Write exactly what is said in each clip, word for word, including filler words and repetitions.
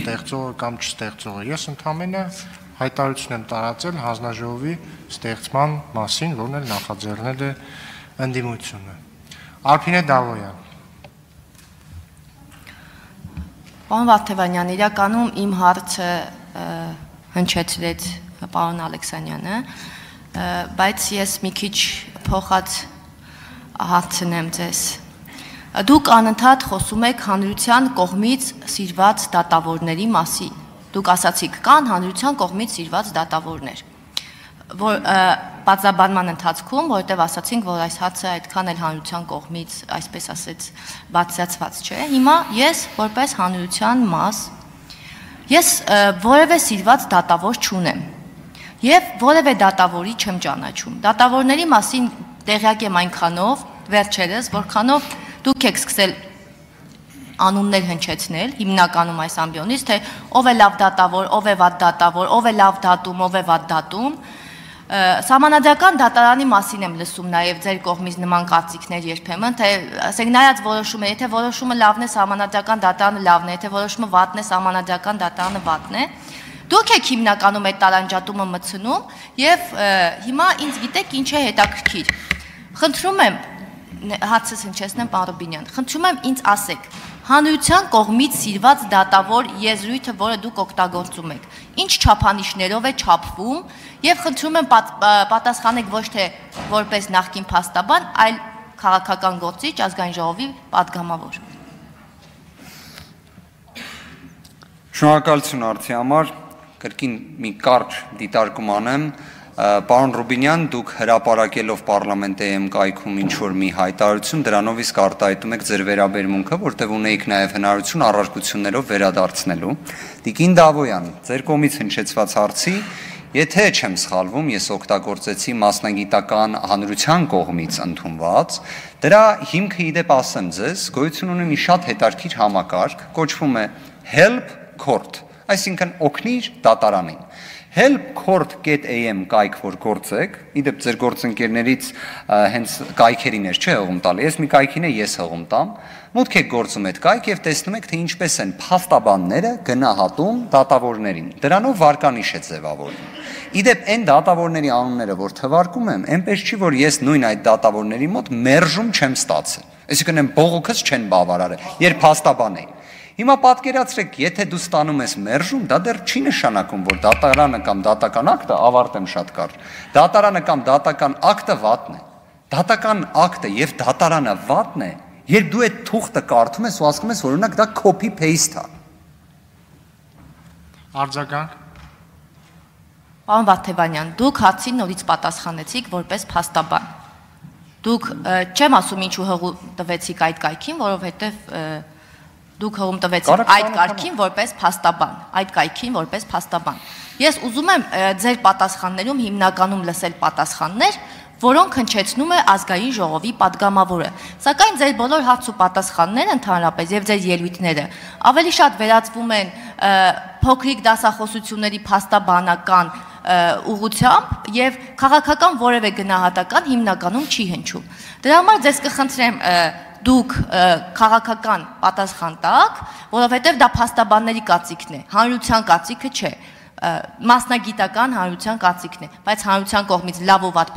ստեղծողը կամ չստեղծողը։ Ես ընդհանրապես հայտարարություն եմ տարածել հանձնաժողովի ստեղծման մասին, որն էլ նախաձեռնել է ընդդիմությունը։ Արփինե Դավոյան։ Պարոն Վարդևանյան, իրականում իմ հարցը հնչեցրեց պարոն Ալեքսանյանը, բայց ես մի քիչ փոխած հարցնեմ ձեզ։ Դուք անընդհատ խոսում եք հանրության կողմից սիրված դատավորների մասին։ Դուք ասացիք կան հանրության կողմից սիրված դատավորներ, որ բացաբանման ընթացքում, որովհետև ասացինք, որ այս հարցը այդքան էլ հանրության կողմից, այսպես ասած, բացացված չէ։ Հիմա ես որպես հանրության մաս, ես որևէ սիրված դատավոր չունեմ եւ որևէ դատավորի չեմ ճանաչում։ Դատավորների մասին տեղյակ եմ այնքանով, վերջերս, որքանով դուք եք սկսել անուններ հնչեցնել, հիմնականում այս ամբիոնից, թե ով է լավ դատավոր, ով է վատ դատավոր, ով է լավ դատում, ով է վատ դատում։ Սահմանադրական դատարանի մասին եմ լսում նաև ձեր կողմից նման կարծիքներ երբեմն, թե ասենք նայած որոշումը, եթե որոշումը լավն է, սահմանադրական դատարանը լավն է, եթե որոշումը վատն է, սահմանադրական դատարանը վատն է։ Դուք եք հիմնականում այդ տարանջատումը մտցնում եւ հիմա ինձ գիտեք ինչ է հետաքրքիր։ Խնդրում եմ հացս հնչեցնեմ պարոն Ռուբինյան, խնդրում եմ ինձ ասեք, հանրության կողմից սիրված դատավոր եզրույթը, որը դուք օգտագործում եք, ինչ չափանիշներով է չափվում եւ խնդրում եմ պատասխանեք ոչ թե որպես նախկին փաստաբան, այլ քաղաքական գործիչ, ազգային ժողովի պատգամավոր։ Շնորհակալություն արդի համար, կրկին մի կարճ դիտարկում անեմ։ Պարոն Ռուբինյան, դուք հրապարակելով պարլամենտայում կայքում ինչ-որ մի հայտարարություն, դրանով իսկ արտահայտում եք ձեր վերաբերմունքը, որտեղ ունեիք նաև հնարավորություն առարկություններով վերադարձնելու։ Տիկին Դավոյան, ձեր կողմից հնչեցված հարցի, եթե չեմ սխալվում, ես օգտագործեցի մասնագիտական հանրության կողմից ընդունված, դրա հիմքը իդեպ ասեմ ձեզ, գոյություն ունի մի շատ հետաքրքիր համակարգ, կոչվում է Help Court, այսինքն օգնիր դատարանին։ help court dot a m կայք որ գործեք, իդեպ ձեր գործընկերներից հենց կայքերին էր չէ հողում տալի, ես մի կայքին է ես հողում տամ, մուտք եք գործում այդ կայք եւ տեսնում եք, թե ինչպես են փաստաբանները գնահատում դատավորներին, դրանով վարկանիշ է ձևավորվում։ Իդեպ այն դատավորների անունները, որ թվարկում եմ, այնպես չի, որ ես նույն այդ դատավորների մոտ մերժում չեմ ստացել, այսինքն այն բողոքս չեն բավարարել, երբ փաստաբան էին։ Հիմա պատկերացրեք, եթե դու ստանում ես մերժում, դա դեռ չի նշանակում, որ դատարանը կամ դատական ակտը ավարտեմ շատ կարճ։ Դատարանը կամ դատական ակտը վատն է։ Դատական ակտը եւ դատարանը վատն է, երբ դու այդ թուղթը կարդում ես ու ասում ես, որ օրինակ դա copy paste է։ Արձագանք։ Պարոն Վարդևանյան, դուք հարցին նորից պատասխանեցիք որպես փաստաբան։ Դուք չեմ ասում ինչու հողու տվեցիք այդ կայքին, որովհետեւ դուք հողում տվեցիք այդ կարգին որպես փաստաբան, այդ կայքին որպես փաստաբան։ Ես ուզում եմ ձեր պատասխաններում հիմնականում լսել պատասխաններ, որոնք հնչեցնում է ազգային ժողովի պատգամավորը։ Սակայն ձեր բոլոր հարց ու պատասխանները ընդհանրապես եւ ձեր ելույթները ավելի շատ վերածվում են փոքրիկ դասախոսությունների փաստաբանական ուղղությամբ եւ քաղաքական որևէ գնահատական հիմնականում չի հնչում։ Դրա համար ձեզ կխնդրեմ դուք քաղաքական պատասխան տաք, որովհետև դա փաստաբանների կարծիքն է, հանրության կարծիքը չէ, մասնագիտական հանրության կարծիքն է, բայց հանրության կողմից լավ ու վատ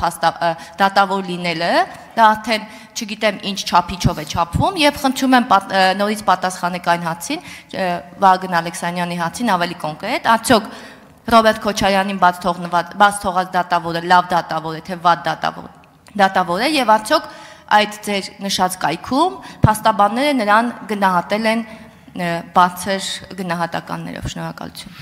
դատավոր լինելը, դա արդեն չգիտեմ ինչ չափիչով է չափվում եւ խնդրում եմ նորից պատասխանեք այն հարցին, Վագն Ալեքսանյանի հարցին ավելի կոնկրետ, արդյոք Ռոբերտ Քոչարյանին բաց թողած դատավորը լավ դատավոր է, թե վատ դատավոր է եւ արդյոք այդ ձեր նշած կայքում փաստաբանները նրան գնահատել են բարձր գնահատականներով։ Շնորհակալություն։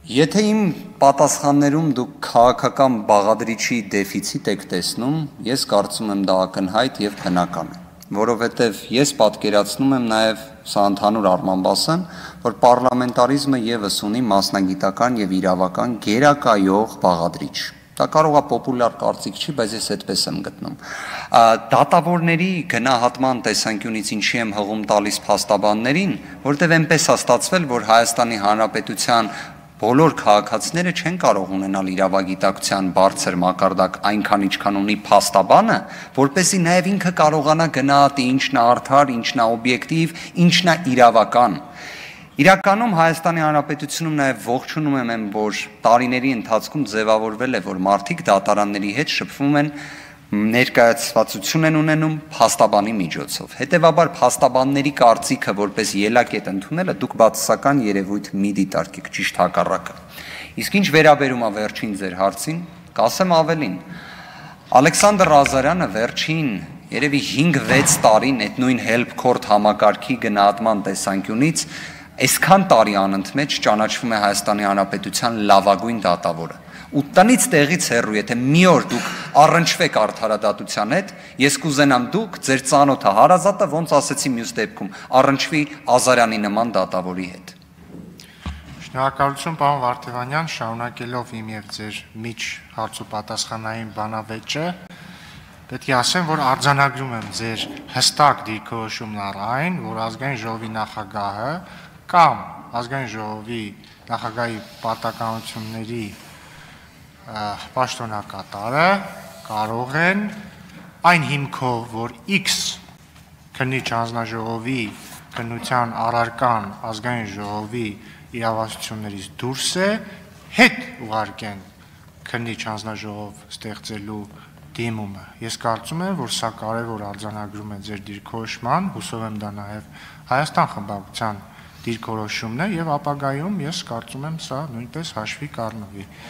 Եթե իմ պատասխաններում դուք քաղաքական բաղադրիչի դեֆիցիտ եք տեսնում, ես կարծում եմ դա ակնհայտ եւ բնական է, որովհետեւ ես պատկերացնում եմ նաեւ սա ընդհանուր առմամբ ասեմ, որ պարլամենտարիզմը եւս ունի մասնագիտական եւ իրավական գերակայող բաղադրիչ։ Դա կարող է պոպուլյար կարծիք չի, բայց ես այդպես եմ գտնում։ Դատավորների գնահատման տեսանկյունից ինչի եմ հղում տալիս փաստաբաններին, որտեղ այնպես է ստացվել, որ Հայաստանի Հանրապետության բոլոր քաղաքացիները չեն կարող ունենալ իրավագիտակցության բարձր մակարդակ այնքան ինչքան ունի փաստաբանը, որպեսզի նաև ինքը կարողանա գնահատի ինչն է արդար, ինչն է օբյեկտիվ, ինչն է իրավական։ Իրականում Հայաստանի Հանրապետությունում նաև ողջունում եմ այն, որ տարիների ընթացքում ձևավորվել է, որ մարդիկ դատարանների հետ շփվում են, ներկայացվածություն են ունենում փաստաբանի միջոցով։ Հետևաբար փաստաբանների կարծիքը որպես ելակետ ընդունելը դուք բացասական երևույթ մի դիտարկեք, ճիշտ հակառակը։ Իսկ ինչ վերաբերում է վերջին ձեր հարցին, կասեմ ավելին։ Ալեքսանդր Ղազարյանը վերջին երևի հինգ-վեց տարին այդ նույն Help Court համակարգի գնահատման տեսանկյունից այսքան տարի անընդմեջ ճանաչվում է Հայաստանի Հանրապետության լավագույն դատավորը։ Ու տնից տեղից հեռու, եթե մի օր դուք առնչվեք արդարադատության հետ, ես կուզենամ դուք ձեր ծանոթը հարազատը, ոնց ասեցի մյուս դեպքում, առնչվի Ղազարյանի նման դատավորի հետ։ Շնորհակալություն, պարոն Վարդևանյան, շարունակելով իմ եւ ձեր միջ հարց ու պատասխանային բանավեճը, պետք է ասեմ, որ արձանագրում եմ ձեր հստակ դիրքորոշումն առ այն, որ ազգային ժողովի նախագահը կամ ազգային ժողովի նախագահի պարտականությունների պաշտոնակատարը կարող են այն հիմքով, որ X քննիչ հանձնաժողովի քննության առարկան ազգային ժողովի իրավասություններից դուրս է, հետ ուղարկեն քննիչ հանձնաժողով ստեղծելու դիմումը։ Ես կարծում եմ, որ սա կարևոր արձանագրում է ձեր դիրքորոշման, հուսով եմ դա նաև Հայաստան խմբակցության դիրքորոշումն է եւ ապագայում ես կարծում եմ սա նույնպես հաշվի կառնվի։